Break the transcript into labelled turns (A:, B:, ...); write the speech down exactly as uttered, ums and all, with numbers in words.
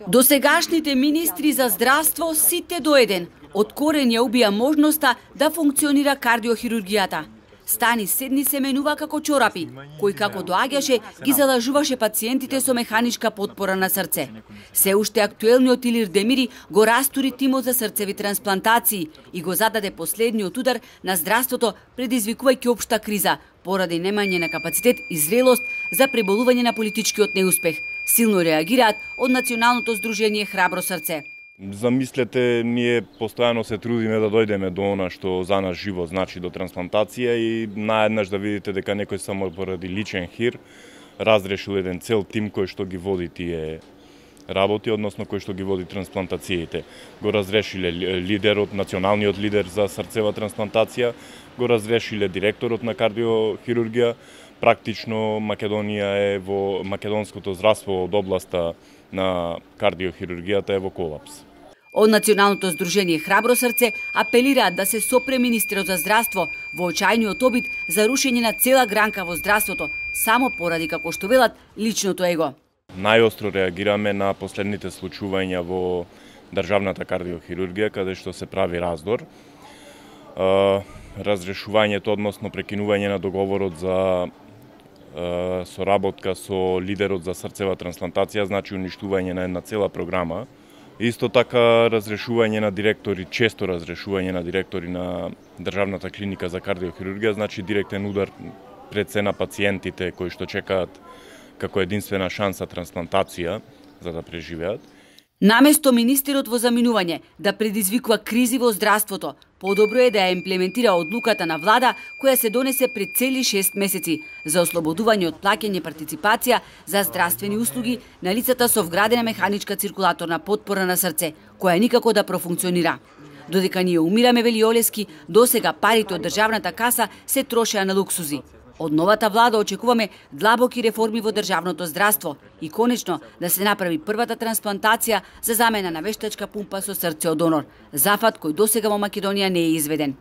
A: Досегашните министри за здравство сите до еден од корен ја убија можноста да функционира кардиохирургијата. Стани седни се менува како чорапи, кој како доаѓаше ги залажуваше пациентите со механичка потпора на срце. Се уште актуелниот Илир Демири го растури тимот за срцеви трансплантации и го зададе последниот удар на здравството, предизвикувајќи општа криза поради немање на капацитет и зрелост за преболување на политичкиот неуспех. Силно реагираат од Националното здружение Храбро срце.
B: Замислете, ние постојано се трудиме да дојдеме до она што за нас живо значи, до трансплантација, и наеднаш да видите дека некој само поради личен хир разрешил еден цел тим кој што ги води тие работи, односно кој што ги води трансплантациите. Го разрешиле лидерот, националниот лидер за срцева трансплантација, го разрешиле директорот на кардиохирургија. Практично Македонија е во македонското здравство од областа на кардиохирургијата е во колапс.
A: Од Националното здружение Храбро срце апелираат да се сопре министерот за здравство во очајниот обид за рушење на цела гранка во здравството, само поради, како што велат, личното его.
B: Најостро реагираме на последните случувања во државната кардиохирургија, каде што се прави раздор. Разрешувањето, односно прекинување на договорот за соработка со лидерот за срцева трансплантација, значи уништување на една цела програма. Исто така разрешување на директори, често разрешување на директори на државната клиника за кардиохирургија, значи директен удар пред се на пациентите кои што чекаат како единствена шанса трансплантација за да преживеат.
A: Наместо министерот во заминување да предизвикува кризи во здравството, подобро е да ја имплементира одлуката на влада која се донесе пред цели шест месеци за ослободување од плаќање партиципација за здравствени услуги на лицата со вградена механичка циркулаторна потпора на срце, која никако да профункционира. Додека ние умираме, вели Олески, досега парите од државната каса се трошеа на луксузи. Од новата влада очекуваме длабоки реформи во државното здравство и конечно да се направи првата трансплантација за замена на вештачка пумпа со срце од донор, зафат кој досега во Македонија не е изведен.